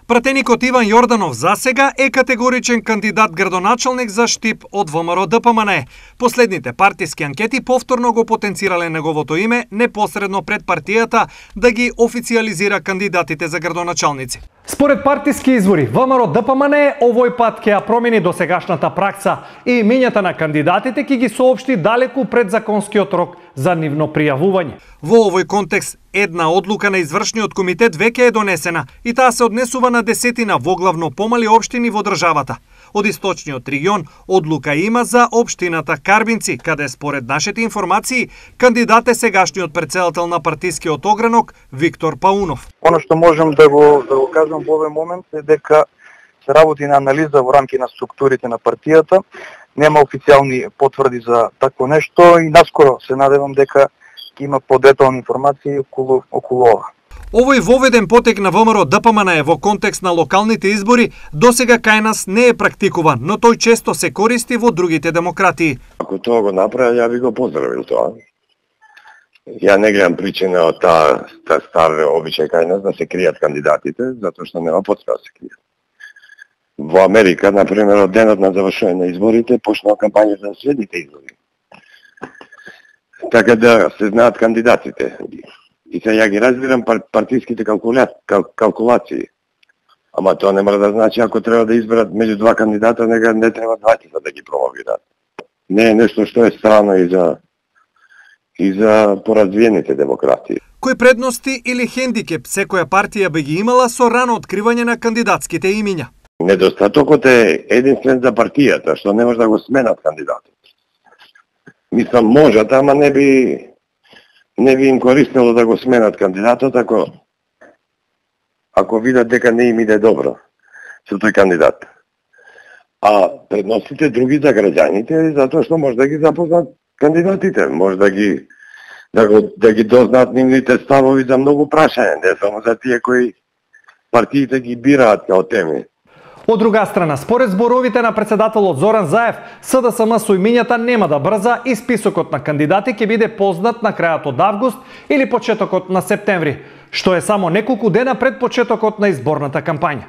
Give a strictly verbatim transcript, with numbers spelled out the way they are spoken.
Пратеникот Иван Јорданов засега е категоричен кандидат градоначалник за Штип од ВМРО Д П М Н Е. Последните партиски анкети повторно го потенцирале неговото име непосредно пред партијата да ги официализира кандидатите за градоначалници. Според партиски извори, ВМРО Д П М Н Е овој пат ќе ја промени досегашната пракса и имењата на кандидатите ќе ги соопшти далеку пред законскиот рок за нивно пријавување. Во овој контекст, една одлука на извршниот комитет веќе е донесена и таа се однесува на десетина воглавно помали општини во државата. Од источниот регион одлука има за општината Карбинци, каде според нашите информации кандидат е сегашниот претседател на партискиот огранок Виктор Паунов. Оно што можам да го да го кажам во овој момент е дека се работи на анализа во рамки на структурите на партијата. Нема официјални потврди за такво нешто и наскоро се надевам дека ќе има подетални информации околу околу ова. Овој воведен потек на ВМРО Д П М Н Е во контекст на локалните избори досега кај нас не е практикуван, но тој често се користи во другите демократии. Ако тоа го направи, ја би го поздравил тоа. Ја не гледам причина од таа та стар обичај кај нас да се кријат кандидатите, затоа што нема потреба да се кријат. Во Америка, например, од денот на завршување на изборите, почнаа кампањата за следните избори. Така да се знаат кандидатите. И се ја ги разбирам партиските калкула... кал... калкулации. Ама тоа не мора да значи ако треба да изберат меѓу два кандидата, нека не треба двајцата да ги промовираат. Не е нешто што е страно и за и за поразвиените демократии. Кои предности или хендикеп секоја партија би ги имала со рано откривање на кандидатските имиња? Недостатокот е единствен за партијата, што не може да го сменат кандидатот. Мислам, можат, ама не би не би им користело да го сменат кандидатот ако ако видат дека не им иде добро со тој кандидат. А предностите други за граѓаните затоа што може да ги запознат кандидатите, може да ги да го да ги дознаат нивните ставови за многу прашања, не само за тие кои партиите ги бираат као теми. Од друга страна, според зборовите на претседателот Зоран Заев, С Д С М со имињата нема да брза и списокот на кандидати ќе биде познат на крајот од август или почетокот на септември, што е само неколку дена пред почетокот на изборната кампања.